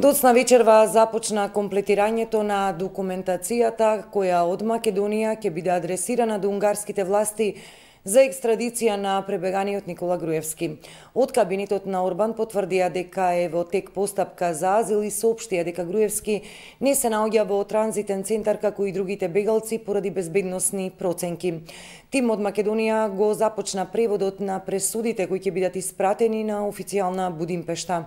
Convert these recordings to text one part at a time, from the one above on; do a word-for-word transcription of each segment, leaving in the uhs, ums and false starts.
Доцна вечерва започна комплетирањето на документацијата која од Македонија ќе биде адресирана до унгарските власти за екстрадиција на пребеганиот Никола Груевски. Од кабинетот на Орбан потврдија дека е во тек постапка за азил и соопштија дека Груевски не се наоѓа во транзитен центар како и другите бегалци поради безбедносни проценки. Тим од Македонија го започна преводот на пресудите кои ќе бидат испратени на официјална Будимпешта.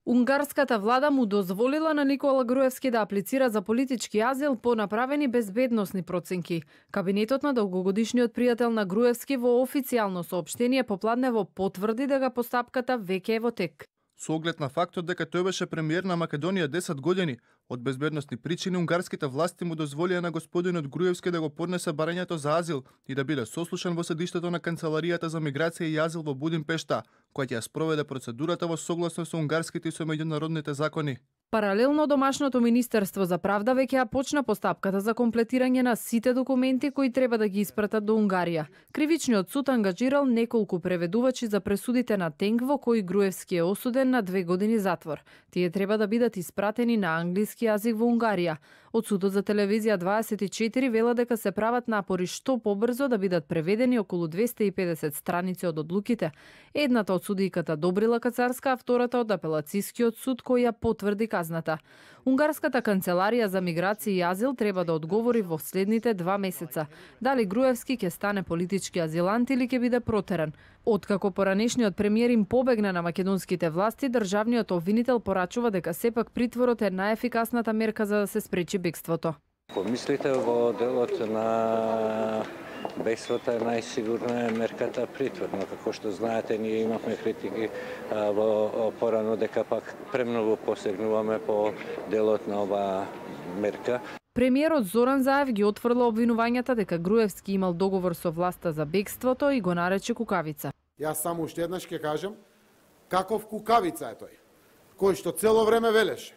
Унгарската влада му дозволила на Никола Груевски да аплицира за политички азил по направени безбедносни проценки. Кабинетот на долгогодишниот пријател на Груевски во официјално соопштение попладнево потврди дека постапката веќе е во тек. Со оглед на фактот дека тој беше премиер на Македонија десет години, од безбедносни причини унгарските власти му дозволија на господинот Груевски да го поднесе барањето за азил и да биде сослушан во седиштето на Канцеларијата за миграција и азил во Будимпешта, која ќе ја спроведе процедурата во согласно со унгарските и со меѓународните закони. Паралелно, Домашното министерство за правда веќе ја почна постапката за комплетирање на сите документи кои треба да ги испратат до Унгарија. Кривичниот суд ангажирал неколку преведувачи за пресудите на Тенг во кои Груевски е осуден на две години затвор. Тие треба да бидат испратени на англиски јазик во Унгарија. Од судот за телевизија дваесет и четири вела дека се прават напори што побрзо да бидат преведени околу двесте и педесет страници од одлуките. Едната од судијката Добрила Кацарска, а втората од апелацискиот суд кој ја потврди казната. Унгарската канцеларија за миграција и азил треба да одговори во следните два месеца дали Груевски ќе стане политички азилант или ќе биде протеран. Откако поранешниот премиер им побегна на македонските власти, државниот обвинител порачува дека сепак притворот е најефикасната мерка за да се спречи бегството. Помислите во делот на бегството е најсигурна мерката притвор, но како што знаете, ние имавме критики во порано дека пак премногу посегнуваме по делот на оваа мерка. Премиерот Зоран Заев ги отфрла обвинувањата дека Груевски имал договор со власта за бегството и го нарече кукавица. Јас само уште еднаш ќе кажам каков кукавица е тој, кој што цело време велеше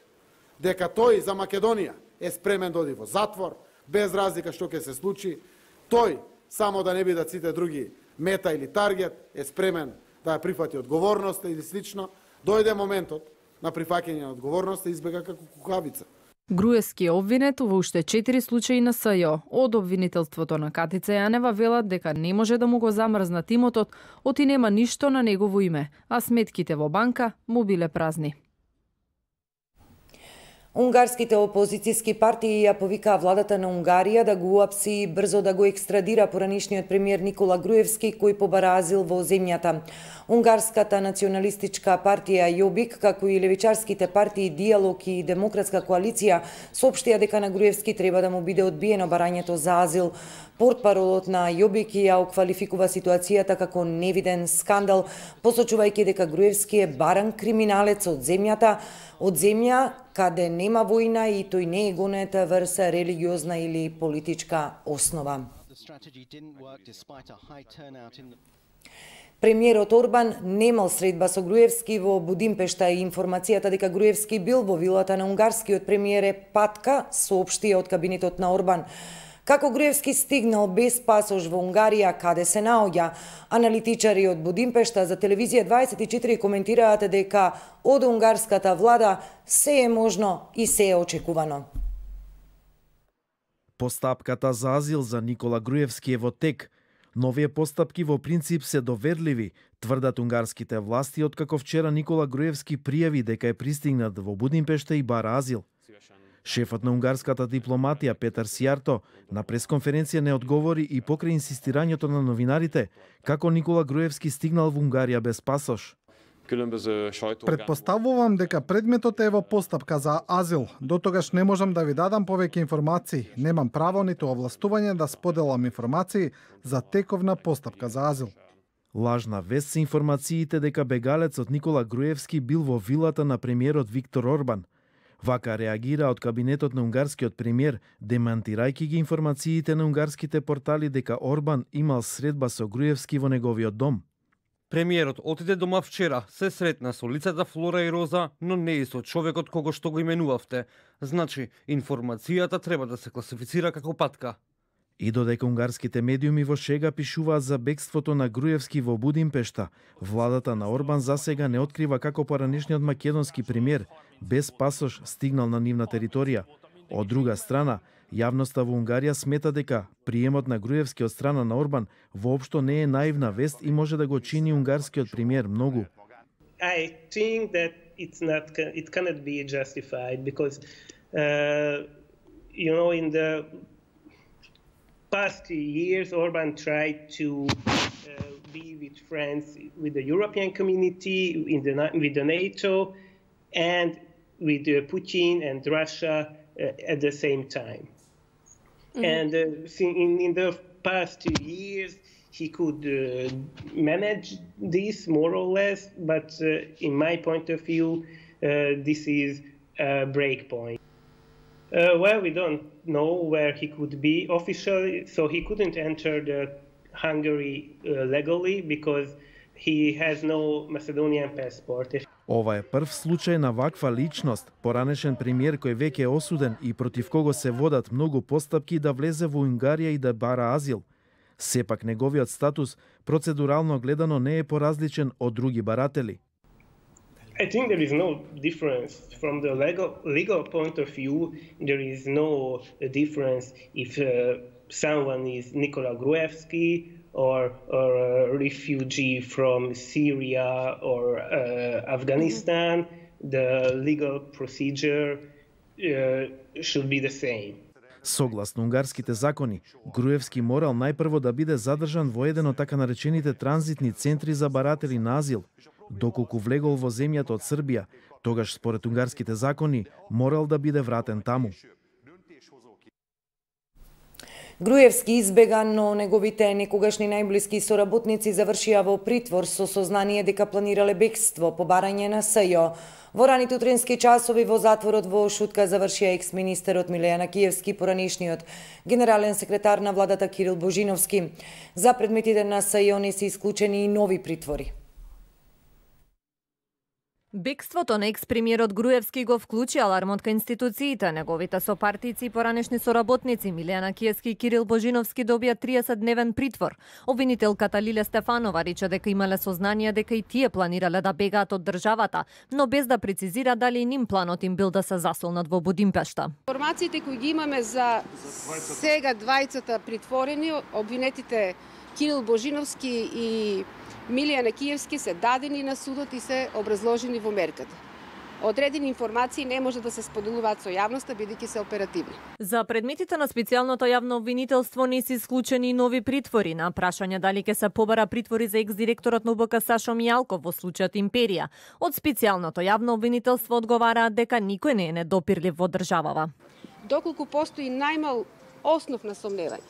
дека тој за Македонија е спремен да оди во затвор, без разлика што ќе се случи. Тој, само да не бидат сите други мета или таргет, е спремен да ја прифати одговорноста или слично. Дојде моментот на прифаќање на одговорноста и избега како кукавица. Груевски е обвинет во уште четири случаи на СЈО. Од обвинителството на Катица Јанева велат дека не може да му го замрзнат имотот, оти нема ништо на негово име, а сметките во банка му биле празни. Унгарските опозицијски партии ја повикаа владата на Унгарија да го уапси и брзо да го екстрадира поранишниот премиер Никола Груевски, кој побара азил во земјата. Унгарската националистичка партија Јобик, како и левичарските партии Диалог и Демократска коалиција, соопштија дека на Груевски треба да му биде одбиено барањето за азил. Портпаролот на Јобик ја оквалификува ситуацијата како невиден скандал, посочувајќи дека Груевски е баран криминалец од земјата, од земја каде нема војна и тој не е гонет врз религиозна или политичка основа. Премиерот Орбан немал средба со Груевски во Будимпешта и информацијата дека Груевски бил во вилата на унгарскиот премиер е патка, соопштија од кабинетот на Орбан. Како Груевски стигнал без пасош во Унгарија, каде се наоѓа, аналитичари од Будимпешта за телевизија дваесет и четири коментираат дека од унгарската влада се е можно и се е очекувано. Постапката за азил за Никола Груевски е во тек. Новие постапки во принцип се доверливи, тврдат унгарските власти, откако вчера Никола Груевски пријави дека е пристигнат во Будимпешта и бара азил. Шефот на унгарската дипломатија Петар Сијарто на пресконференција не одговори и покрај инсистирањето на новинарите како Никола Груевски стигнал во Унгарија без пасош. Предпоставувам дека предметот е во постапка за азил. До тогаш не можам да ви дадам повеќе информации. Немам право ниту овластување да споделам информации за теков на постапка за азил. Лажна вест се информациите дека бегалецот Никола Груевски бил во вилата на премиерот Виктор Орбан. Вака реагира од кабинетот на унгарскиот премиер, демантирајќи ги информациите на унгарските портали дека Орбан имал средба со Груевски во неговиот дом. Премиерот отиде дома вчера, се сретна со лицата Флора и Роза, но не и со човекот кого што го именувавте. Значи, информацијата треба да се класифицира како патка. И додека унгарските медиуми во шега пишуваат за бегството на Груевски во Будимпешта, владата на Орбан засега не открива како поранешниот македонски премиер без пасош стигнал на нивна територија. Од друга страна, јавноста во Унгарија смета дека приемот на Груевски од страна на Орбан воопшто не е наивна вест и може да го чини унгарскиот премиер многу. I think that it's not it cannot be justified because uh, you know in the past years Orban tried to uh, be with friends with the European community in the with the NATO and with uh, Putin and Russia uh, at the same time. Mm-hmm. And uh, in in the past two years he could uh, manage this more or less, but uh, in my point of view, uh, this is a break point. Uh, well, we don't know where he could be officially, so he couldn't enter the Hungary uh, legally because he has no Macedonian passport. Ова е прв случај на ваква личност, поранешен премиер кој веќе е осуден и против кого се водат многу постапки да влезе во Унгарија и да бара азил. Сепак неговиот статус процедурално гледано не е поразличен од други баратели. I think there is no difference from the legal legal point of view. There is no difference if uh, someone is Nikola Gruevski or or a refugee from Syria or uh, Afghanistan. Mm-hmm. The legal procedure uh, should be the same. Согласно унгарските закони, Груевски морал најпрво да биде задржан во еден од така наречените транзитни центри за баратели на азил. Доколку влегол во земјата од Србија, тогаш според унгарските закони морал да биде вратен таму. Груевски избега, но неговите некогашни најблиски соработници завршија во притвор со сознание дека планирале бегство по барање на СЈО. Во раните утренски часови во затворот во Шутка завршија екс-министерот Миле Јанакиевски, поранешниот генерален секретар на владата Кирил Божиновски. За предметите на СЈО не се исклучени и нови притвори. Бегството на екс-премиерот Груевски го вклучи алармот кај институциите. Неговите сопартици и поранешни соработници Миле Јанакиевски и Кирил Божиновски добија триесетдневен притвор. Обвинителката Лиле Стефанова рече дека имале сознание дека и тие планирале да бегаат од државата, но без да прецизира дали и ним планот им бил да се засолнат во Будимпешта. Информациите кои ги имаме за сега двајцата притворени, обвинетите Кирил Божиновски и Миле Јанакиевски се дадени на судот и се образложени во мерката. Одредени информации не може да се споделуваат со јавноста, бидејќи се оперативни. За предметите на специјалното јавно обвинителство не се исклучени и нови притвори. На прашање дали ќе се побара притвори за екс-директорот на У Б К Сашо Мијалков во случајот Империја, од специјалното јавно обвинителство одговараат дека никој не е недопирлив во државава. Доколку постои најмал основ на сомневање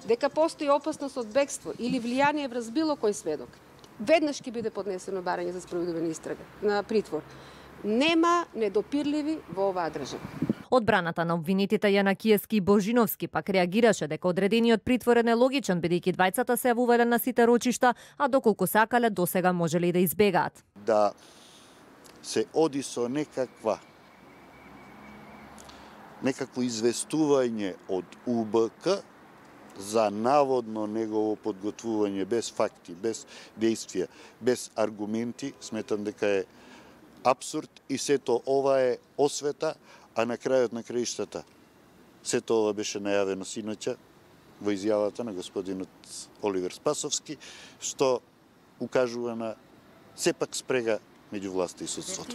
дека постои опасност од бегство или влијание врз било кој сведок, веднаш ќе биде поднесено барање за спроведување истрага на притвор. Нема недопирливи во оваа држава. Одбраната на обвинетите Јанакиевски и Божиновски пак реагираше дека одредениот притвор е нелогичен, бидејќи двајцата се јавувале на сите рочишта, а доколку сакале досега можеле и да избегаат. Да се оди со некаква некакво известување од У Б К за наводно негово подготвување без факти, без действија, без аргументи, сметам дека е апсурд и сето ова е освета, а на крајот на краиштата сето ова беше најавено синоќа во изјавата на господинот Оливер Спасовски, што укажува на сепак спрега меѓу власта и судството.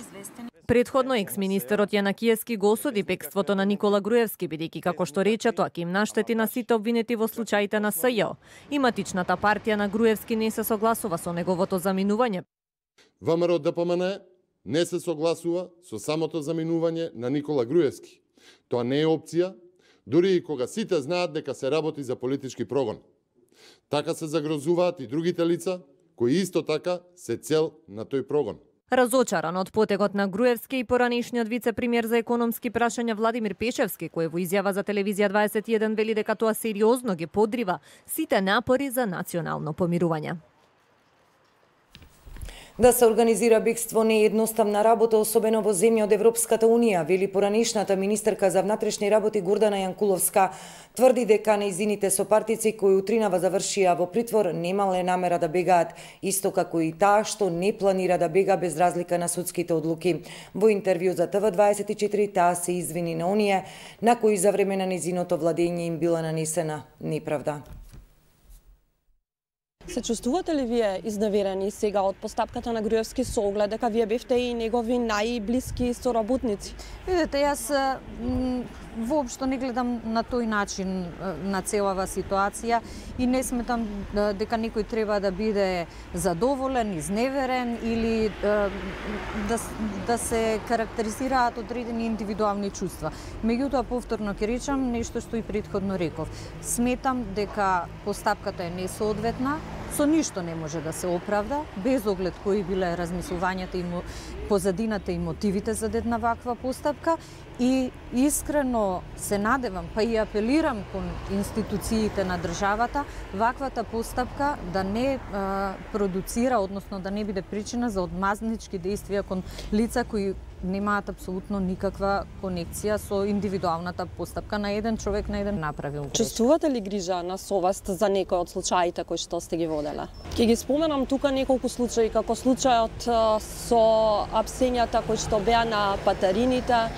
Предходно екс-министерот Јанакиевски го осуди бегството на Никола Груевски, бидејќи како што рече тоа ќе им наштети на сите обвинети во случаите на СЈО. И матичната партија на Груевски не се согласува со неговото заминување. ВМРО Д П М Н не се согласува со самото заминување на Никола Груевски. Тоа не е опција, дури и кога сите знаат дека се работи за политички прогон. Така се загрозуваат и другите лица, кои исто така се цел на тој прогон. Разочаран од потегот на Груевски и поранешниот вице-премиер за економски прашања Владимир Пешевски, кој во изјава за телевизија дваесет и еден вели дека тоа сериозно ги подрива сите напори за национално помирување. Да се организира бегство не е едноставна работа, особено во земја од Европската Унија, вели поранишната министерка за внатрешни работи Гордана Јанкуловска. Тврди дека нејзините сопартици кои утринава завршија во притвор немале намера да бегаат, исто како и таа што не планира да бега без разлика на судските одлуки. Во интервју за Т В дваесет и четири таа се извини на оние на кои за време на нејзиното владење им била нанесена неправда. Се чувствувате ли вие изневерени сега од постапката на Груевски со оглед дека вие бевте и негови најблиски соработници? Видете, јас воопшто не гледам на тој начин на целава ситуација и не сметам дека некој треба да биде задоволен, изневерен или да, да се карактеризираат одредени индивидуални чувства. Меѓутоа, повторно ќе речам нешто што и претходно реков. Сметам дека постапката е несоодветна, со ништо не може да се оправда, без оглед кои биле размислувањата и позадината и мотивите за една ваква постапка, и искрено се надевам, па и апелирам кон институциите на државата, ваквата постапка да не а, продуцира, односно да не биде причина за одмазнички действија кон лица кои немаат апсолутно никаква конекција со индивидуалната постапка на еден човек, на еден направил грешка. Чувствувате ли грижа на совест за некои од случаите кои што сте ги воделе? Ќе ги споменам тука неколку случаи, како случајот со апсењата кои што беа на патарините,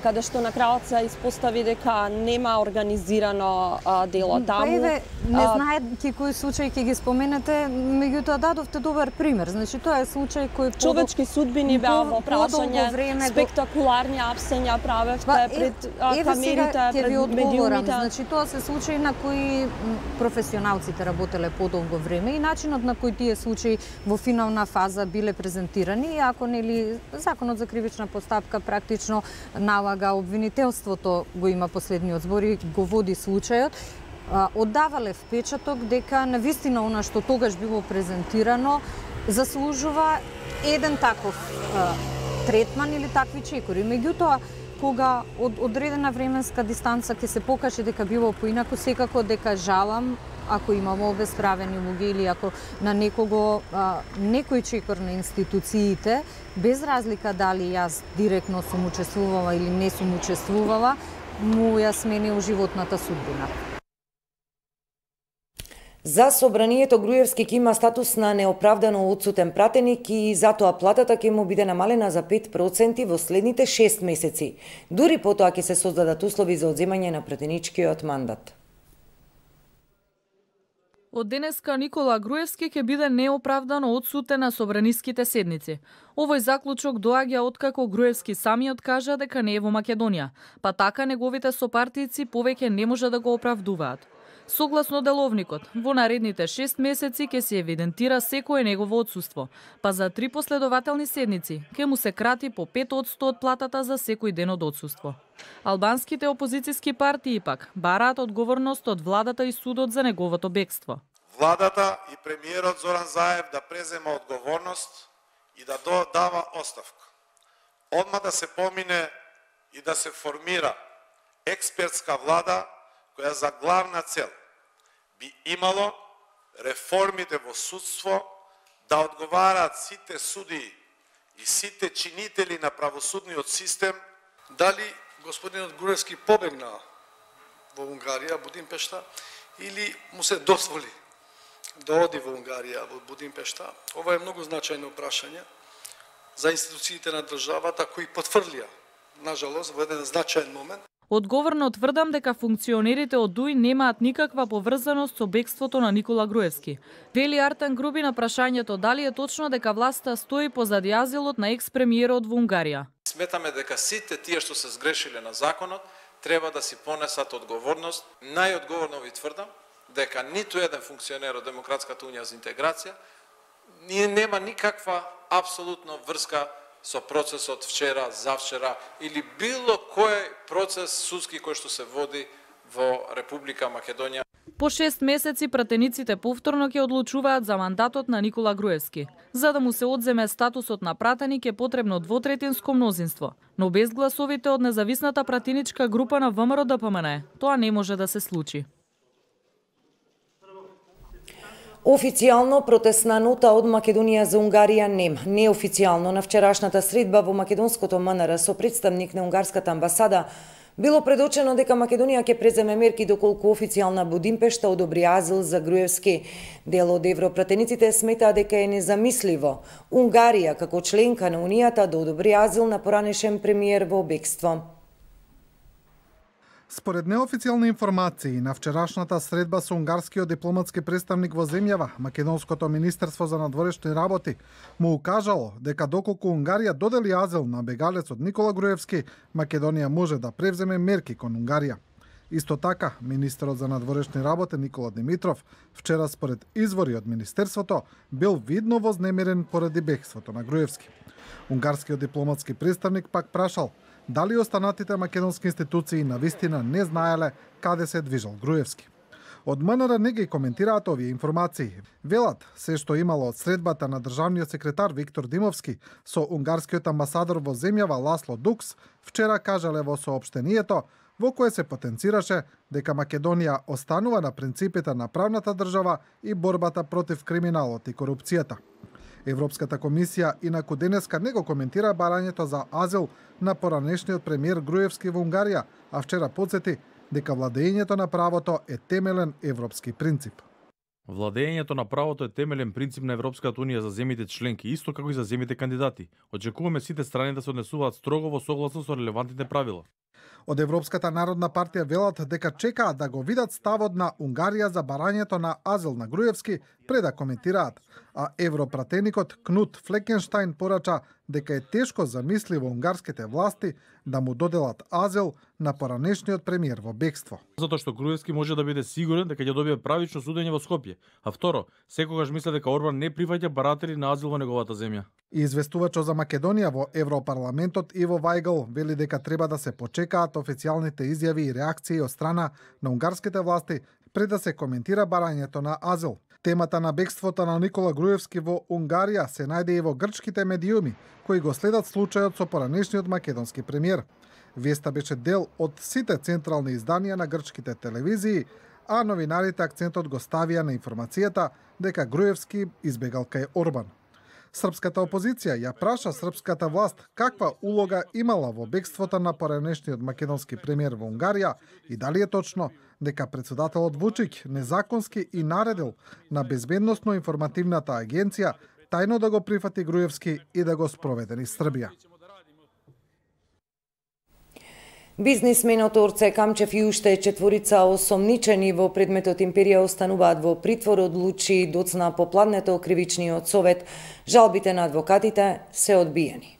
каде што на крајот се испостави дека нема организирано дело таму. Па еве, не знаејќи кои случаи ќе ги споменете, меѓутоа дадовте добар пример. Значи тоа е случај кој човечки судбини беа во прашање, спектакуларни апсења правевте па, пред е, камерите, пред медиумите. Значи тоа се случаи на кои професионалците работеле подолго време и начинот на кој тие случаи во финална фаза биле презентирани, ако нели законот за кривична постапка практично налага обвинителството, го има последниот збор и го води случајот, оддавале впечаток дека навистина она што тогаш било презентирано заслужува еден таков а, третман или такви чекори. Меѓутоа, кога од одредена временска дистанца ќе се покаже дека било поинаку, секако дека жалам ако имamo обесправени луѓе или ако на некого а, некој чекор на институциите, без разлика дали јас директно сум учествувала или не сум учествувала, му ја сменил животната судбина. За собранието Груевски ќе има статус на неоправдано одсутен пратеник и затоа платата ќе му биде намалена за пет проценти во следните шест месеци. Дури потоа ќе се создадат услови за одземање на пратеничкиот мандат. Од денеска Никола Груевски ќе биде неоправдано одсутен на собраниските седници. Овој заклучок доаѓа откако Груевски самиот кажа дека не е во Македонија, па така неговите сопартици повеќе не може да го оправдуваат. Согласно деловникот, во наредните шест месеци ќе се евидентира секое негово отсуство, па за три последователни седници ќе му се крати по пет одсто од платата за секој ден од отсуство. Албанските опозицијски партии пак бараат одговорност од владата и судот за неговото бегство. Владата и премиерот Зоран Заев да презема одговорност и да дава оставка. Одма да се помине и да се формира експертска влада која за главна цел би имало реформите во судство да одговараат сите судии и сите чинители на правосудниот систем. Дали господинот Груевски побегна во Унгарија, Будимпешта, или му се дозволи да оди во Унгарија, во Будимпешта? Ова е многу значајно прашање за институциите на државата кои потврдија, нажалост, во еден значаен момент. Одговорно тврдам дека функционерите од ДУИ немаат никаква поврзаност со бегството на Никола Груевски. Вели Артан Груби на прашањето дали е точно дека власта стои позади азилот на екс-премиерот во Унгарија. Сметаме дека сите тие што се сгрешиле на законот треба да си понесат одговорност. Најодговорно ви тврдам дека ниту еден функционер од Демократската унија за интеграција ние нема никаква апсолутно врска со процесот вчера, завчера или било кој процес судски кој што се води во Република Македонија. По шест месеци пратениците повторно ќе одлучуваат за мандатот на Никола Груевски. За да му се одземе статусот на пратеник е потребно двотретинско мнозинство, но без гласовите од независната пратеничка група на ВМРО ДПМН тоа не може да се случи. Официјално протестна нота од Македонија за Унгарија нема. Неофицијално на вчерашната средба во македонското М Н Р со представник на унгарската амбасада било предочено дека Македонија ќе преземе мерки доколку официјална Будимпешта одобри азил за Груевски. Дел од европратениците сметаа дека е незамисливо Унгарија како членка на Унијата да одобри азил на поранешен премиер во бегство. Според неофицијални информации, на вчерашната средба со унгарскиот дипломатски представник во земјава, Македонското министерство за надворешни работи му укажало дека доколку Унгарија додели азил на бегалецот Никола Груевски, Македонија може да превземе мерки кон Унгарија. Исто така, министерот за надворешни работи Никола Димитров вчера според извори од министерството бил видно вознемирен поради бегството на Груевски. Унгарскиот дипломатски представник пак прашал дали останатите македонски институции навистина не знаеле каде се движел Груевски. Од М Н Р не ги коментираат овие информации. Велат се што имало од средбата на државниот секретар Виктор Димовски со унгарскиот амбасадор во земјава Ласло Дукс вчера кажале во соопштението во кое се потенцираше дека Македонија останува на принципите на правната држава и борбата против криминалот и корупцијата. Европската комисија инаку денеска не го коментира барањето за азил на поранешниот премиер Груевски во Унгарија, а вчера потсети дека владењето на правото е темелен европски принцип. Владењето на правото е темелен принцип на Европската унија за земјите членки, исто како и за земјите кандидати. Очекуваме сите страни да се однесуваат строго во согласно со релевантните правила. Од Европската народна партија велат дека чекаат да го видат ставот на Унгарија за барањето на азил на Груевски пред да коментираат, а европратеникот Кнут Флекенштајн порача дека е тешко замисливо унгарските власти да му доделат азил на поранешниот премиер во бегство. Затоа што Груевски може да биде сигурен дека ќе добие правично судење во Скопје, а второ, секогаш мисле дека Орбан не прифаќа баратели на азил во неговата земја. И известувачот за Македонија во Европарламентот Иво Вајгл вели дека треба да се почекаат официјалните изјави и реакции од страна на унгарските власти пред да се коментира барањето на азил. Темата на бегството на Никола Груевски во Унгарија се најде и во грчките медиуми, кои го следат случајот со поранешниот македонски премиер. Веста беше дел од сите централни изданија на грчките телевизии, а новинарите акцентот го ставија на информацијата дека Груевски избегал кај Орбан. Српската опозиција ја праша српската власт каква улога имала во бегството на поранешниот македонски премиер во Унгарија и дали е точно дека претседателот Вучиќ незаконски и наредил на Безбедносно-информативната агенција тајно да го прифати Груевски и да го спроведе низ Србија. Бизнисменот Орце Камчев и уште четворица осомничени во предметот Империја остануваат во притвор, одлучи доцна попладнето кривичниот совет. Жалбите на адвокатите се одбиени.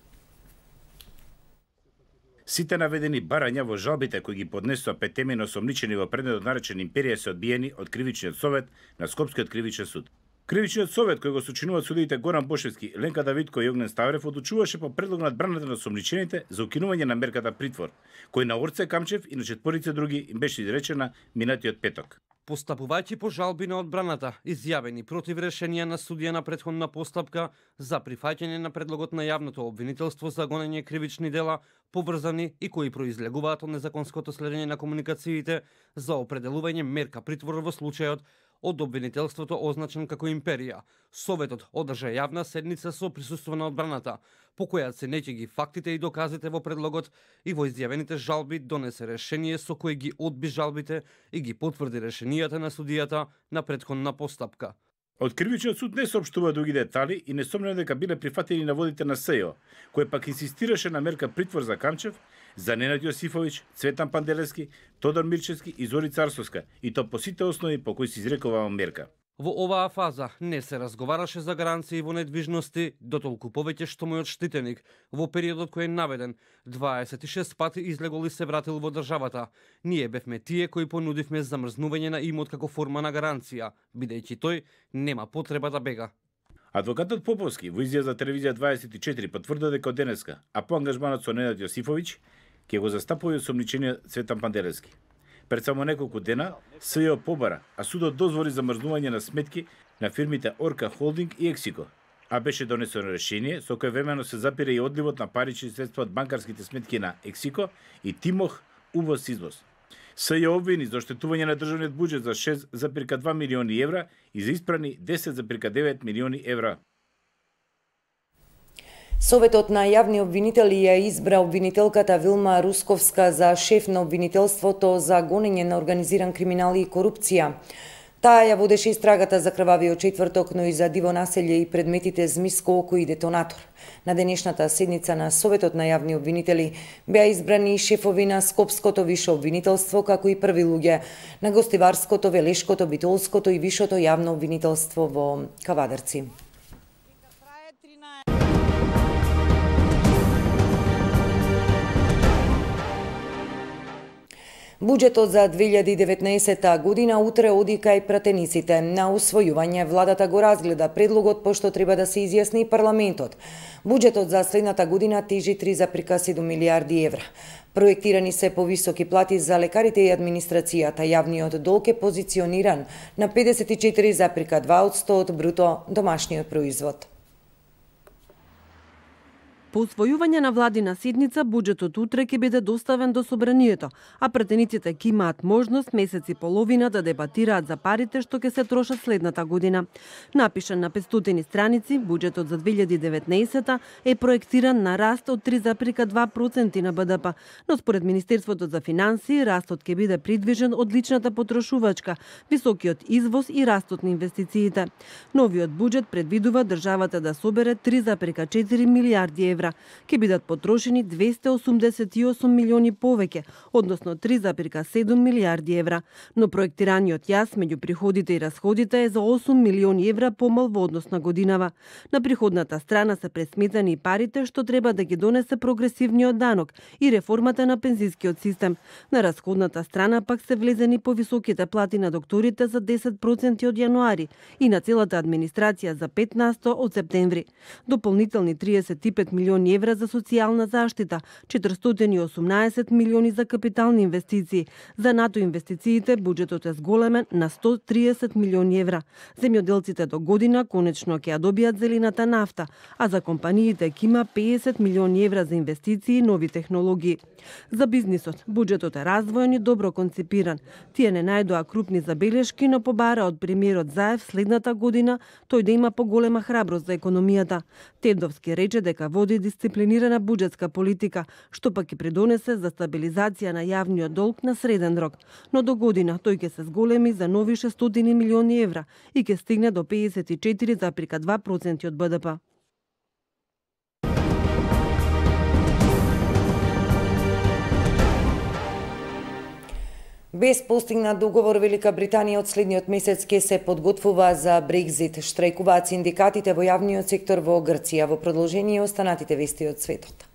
Сите наведени барања во жалбите кои ги поднесоа петемено осомничени во предметот наречен Империја се одбиени од кривичниот совет на Скопскиот кривичен суд. Кривичниот совет, кој го сочинуваат судиите Горан Бошевски, Ленка Давидко и Огнен Ставрев, одлучуваше по предлог на одбраната на осомничените за укинување на мерката притвор, кој на Орце Камчев и на четворица други им беше изречена минатиот петок. Постапувајќи по жалби на одбраната, изјавени против решенија на судија на претходна постапка за прифаќање на предлогот на јавното обвинителство за гонење кривични дела, поврзани и кои произлегуваат од незаконското следење на комуникациите за определување мерка притвор во случајот од обвинителството означен како Империја. Советот одржа јавна седница со присуство на одбраната, по која се неќе ги фактите и доказите во предлогот и во изјавените жалби донесе решение со кој ги одби жалбите и ги потврди решенијата на судијата на претходна постапка. Од кривичниот суд не соопштува други детали и несомнено дека биле прифатени наводите на СЈО, кој пак инсистираше на мерка притвор за Камчев, за Ненад Јосифовиќ, Цветан Панделевски, Тодор Мирчевски и Зори Царсовска, и то по сите основи по кои се изрекува мерка. Во оваа фаза не се разговараше за гаранции во недвижности, дотолку повеќе што мојот штитеник во периодот кој е наведен дваесет и шест пати излегол и се вратил во државата. Ние бевме тие кои понудивме замрзнување на имот како форма на гаранција, бидејќи тој нема потреба да бега. Адвокатот Поповски во изјава за телевизија дваесет и четири потврдува дека од денеска, а по ангажманот со Ненад Јосифовиќ, ќе го застапува осомничениот Цветан Панделевски. Пред само неколку дена СЈО побара, а судот дозволи замрзнување на сметки на фирмите Орка Холдинг и Ексико, а беше донесено решение со кое времено се запира и одливот на парични средства од банкарските сметки на Ексико и Тимох увоз-извоз. Се ја обвини за оштетување на државниот буџет за шест зарез два милиони евра и за испрани десет зарез девет милиони евра. Советот на јавни обвинители ја избра обвинителката Вилма Русковска за шеф на обвинителството за гонење на организиран криминал и корупција. Таа ја водеше истрагата за крвавиот четврток, но и за диво населје и предметите змиско око и детонатор. На денешната седница на Советот на јавни обвинители беа избрани шефови на Скопското висше обвинителство, како и први луѓе на Гостиварското, Велешкото, Битолското и Вишото јавно обвинителство во Кавадарци. Буџетот за две илјади и деветнаесетта година утре оди кај пратениците. На усвојување владата го разгледа предлогот, пошто треба да се изјасни парламентот. Буџетот за следната година тежи три зарез седум милијарди евра. Проектирани се повисоки плати за лекарите и администрацијата. Јавниот долг е позициониран на педесет и четири зарез два одсто од бруто домашниот производ. По усвојување на владина седница, буџетот утре ќе биде доставен до собранието, а пратениците ќе имаат можност месец и половина да дебатираат за парите што ќе се трошат следната година. Напишан на петстотини страници, буџетот за две илјади и деветнаесетта е проектиран на раст од три зарез два проценти на Б Д П, но според Министерството за финансии растот ќе биде придвижен од личната потрошувачка, високиот извоз и растот на инвестициите. Новиот буџет предвидува државата да собере три зарез четири милијарди евра. Ќе бидат потрошени двесте осумдесет и осум милиони повеќе, односно три зарез седум милијарди евра, но проектираниот јас меѓу приходите и расходите е за осум милиони евра помал во однос на годинава. На приходната страна се пресметани и парите што треба да ги донесе прогресивниот данок и реформата на пензискиот систем. На расходната страна пак се влезени повисоките плати на докторите за десет проценти од јануари и на целата администрација за пет на сто од септември. Дополнителни триесет и пет милиони евра за социјална заштита, четиристотини и осумнаесет милиони за капитални инвестиции. За НАТО инвестициите буџетот е зголемен на сто и триесет милиони евра. Земјоделците до година конечно ќе ја добијат зелената нафта, а за компаниите ќе има педесет милиони евра за инвестиции и нови технологии. За бизнисот буџетот е развоен и добро концепиран. Тие не најдоа крупни забелешки, но побара од премиерот Заев следната година тој да има поголема храброст за економијата. Тедовски рече дека води дисциплинирана буџетска политика, што пак ќе придонесе за стабилизација на јавниот долг на среден рок. Но до година тој ќе се зголеми за нови шестстотини милиони евра и ќе стигне до педесет и четири зарез два проценти од Б Д П. Без постигнат договор, Велика Британија од следниот месец ќе се подготвува за Брекзит. Штрајкуваат синдикатите во јавниот сектор во Грција. Во продолжение останатите вести од светот.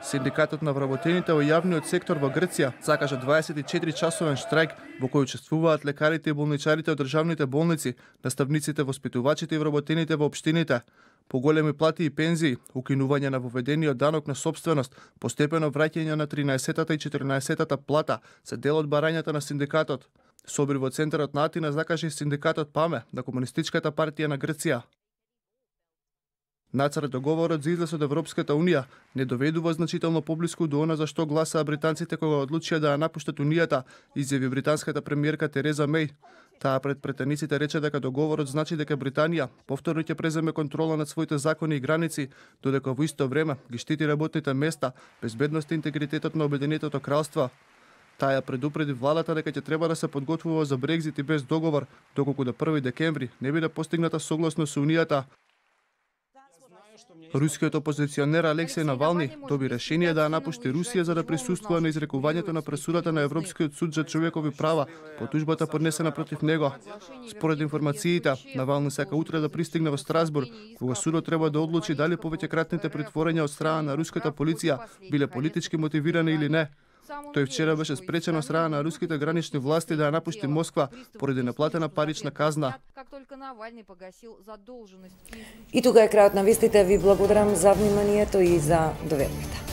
Синдикатот на вработените во јавниот сектор во Грција закажа дваесет и четири часовен штрајк во кој учествуваат лекарите и болничарите од државните болници, наставниците, воспитувачите и вработените во општините. Поголеми плати и пензии, укинување на воведениот данок на собственост, постепено враќање на тринаесеттата и четиринаесеттата плата се дел од барањата на синдикатот. Собир во центарот на Атина закажа и синдикатот ПАМЕ на Комунистичката партија на Грција. Нацрт договорот за излез од Европската Унија не доведува значително поблиску до она за што гласаа британците кога одлучија да ја напуштат Унијата, изјави британската премиерка Тереза Меј. Таа пред претениците рече дека договорот значи дека Британија повторно ќе преземе контрола над своите закони и граници, додека во исто време ги штити работните места, безбедност и интегритетот на Обединетото кралство. Таа ја предупреди владата дека ќе треба да се подготвува за Брекзит и без договор, доколку до први декември не биде постигната согласно со Унијата. Рускиот опозиционер Алексеј Навални доби решение да ја напушти Русија за да присуствува на изрекувањето на пресудата на Европскиот суд за човекови права по тужбата поднесена против него. Според информациите, Навални сака утре да пристигне во Страсбург, кога судот треба да одлучи дали повеќекратните притворања од страна на руската полиција биле политички мотивирани или не. Тој вчера беше спречен од страна на руските гранични власти да ја напушти Москва поради неплатена парична казна. И тука е крајот на вестите. Ви благодарам за вниманието и за довербата.